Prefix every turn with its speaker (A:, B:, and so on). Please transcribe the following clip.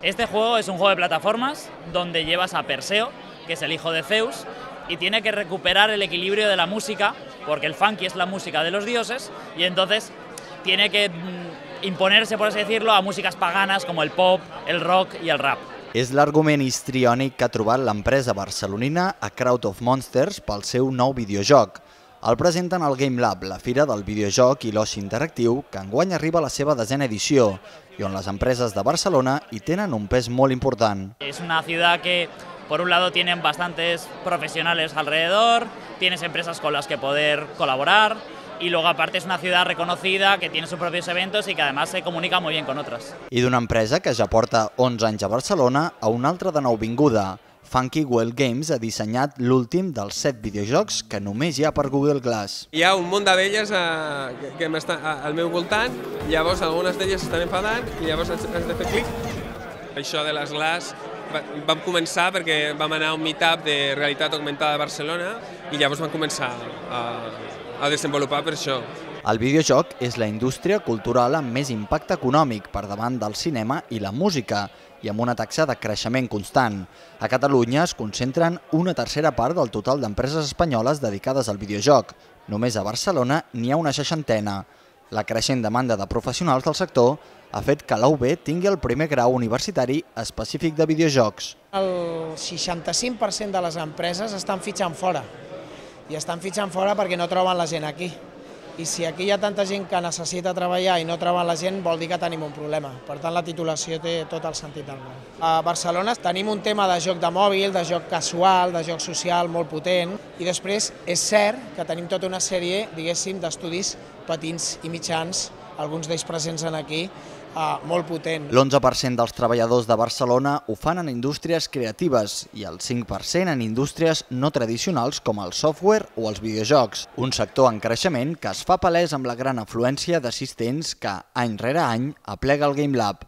A: Este juego es un juego de plataformas donde llevas a Perseo, que es el hijo de Zeus, y tiene que recuperar el equilibrio de la música, porque el funky es la música de los dioses, y entonces tiene que imponerse, por así decirlo, a músicas paganas como el pop, el rock i el rap.
B: És l'argument histriònic que ha trobat l'empresa barcelonina A Crowd of Monsters pel seu nou videojoc. El presenten al Game Lab, la fira del videojoc i l'oci interactiu, que enguany arriba a la seva 10a edició, i on les empreses de Barcelona hi tenen un pes molt important.
A: És una ciutat que, por un lado, tienen bastantes profesionales alrededor, tienes empresas con las que poder colaborar, y luego aparte es una ciudad reconocida que tiene sus propios eventos y que además se comunica muy bien con otras.
B: I d'una empresa que ja porta 11 anys a Barcelona a una altra de nouvinguda. Funky Well Games ha dissenyat l'últim dels 7 videojocs que només hi ha per Google Glass.
C: Hi ha un munt d'abelles que estan al meu voltant, llavors algunes d'elles estan enfadant i llavors has de fer clic. Això de les Glass vam començar perquè vam anar a un meetup de realitat augmentada a Barcelona i llavors vam començar a desenvolupar per això.
B: El videojoc és la indústria cultural amb més impacte econòmic per davant del cinema i la música i amb una taxa de creixement constant. A Catalunya es concentren una tercera part del total d'empreses espanyoles dedicades al videojoc. Només a Barcelona n'hi ha una 60. La creixent demanda de professionals del sector ha fet que la UB tingui el primer grau universitari específic de videojocs.
D: El 65% de les empreses estan fitxant fora, i estan fitxant fora perquè no troben la gent aquí. I si aquí hi ha tanta gent que necessita treballar i no troben la gent, vol dir que tenim un problema. Per tant, la titulació té tot el sentit del món. A Barcelona tenim un tema de joc de mòbil, de joc casual, de joc social molt potent, i després és cert que tenim tota una sèrie, diguéssim, d'estudis petits i mitjans, alguns d'ells presents aquí, molt potent.
B: L'11% dels treballadors de Barcelona ho fan en indústries creatives i el 5% en indústries no tradicionals com el software o els videojocs. Un sector en creixement que es fa palès amb la gran afluència d'assistents que, any rere any, aplega el Game Lab.